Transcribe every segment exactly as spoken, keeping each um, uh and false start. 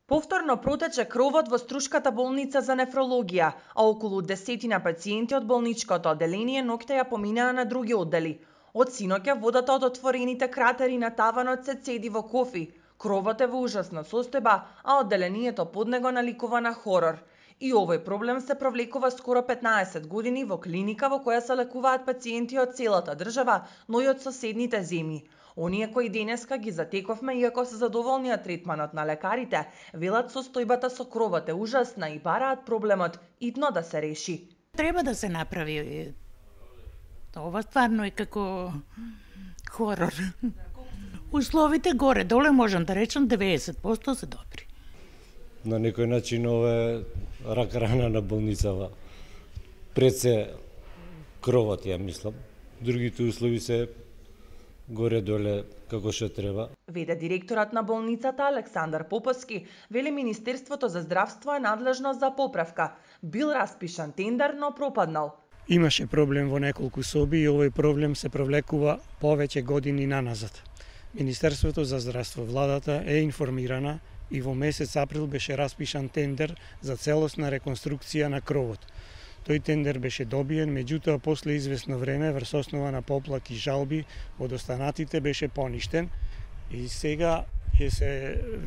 Повторно протече кровот во Струшката болница за нефрологија, а околу десетина пациенти од болничкото одделение ноќта ја поминаа на други оддели. Од синоќа водата од отворените кратери на таванот се цеди во кофи. Кровот е во ужасна состојба, а одделението под него наликува на хорор. И овој проблем се провлекува скоро петнаесет години во клиника во која се лекуваат пациенти од целата држава, но и од соседните земји. Оние кои денеска ги затековме, иако се задоволни од третманот на лекарите, велат состојбата со кровот е ужасна и бараат проблемот итно да се реши. Треба да се направи. Ова стварно е како хорор. Условите горе-доле можам да речам деветдесет проценти се добри. На некој начин ова е рак рана на болницава. Пред се кровот, ја мислам. Другите услови се горе-доле како што треба. Веде директорот на болницата Александар Поповски, вели Министерството за здравство е надлежно за поправка. Бил распишан тендер, но пропаднал. Имаше проблем во неколку соби и овој проблем се провлекува повеќе години наназад. Министерството за здравство, владата е информирана и во месец април беше распишан тендер за целосна реконструкција на кровот. Тој тендер беше добиен, меѓутоа после известно време врз основа на поплаки и жалби од останатите беше поништен и сега ќе се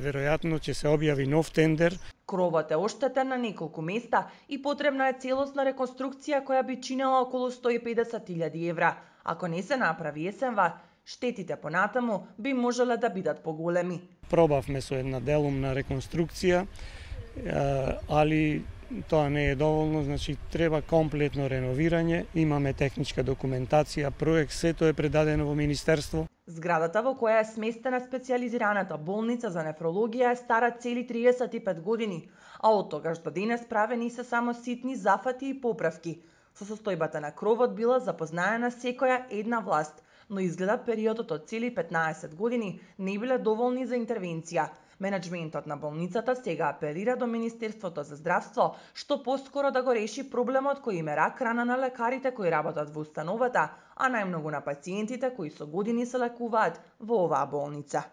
веројатно ќе се објави нов тендер. Кровот е оштетен на неколку места и потребна е целосна реконструкција која би чинела околу сто и педесет илјади евра. Ако не се направи есенва, штетите понатаму би можеле да бидат поголеми. Пробавме со една делумна реконструкција, али тоа не е доволно, значи треба комплетно реновирање, имаме техничка документација, проект, сето е предадено во Министерство. Зградата во која е сместена специјализираната болница за нефрологија е стара цели триесет и пет години, а од тогаш до денес правени се само ситни зафати и поправки. Со состојбата на кровот била запознаена секоја една власт, но изгледа периодот од цели петнаесет години не биле доволни за интервенција. Менеджментот на болницата сега апелира до Министерството за здравство што поскоро да го реши проблемот кој им е рак рана на лекарите кои работат во установата, а најмногу на пациентите кои со години се лекуваат во оваа болница.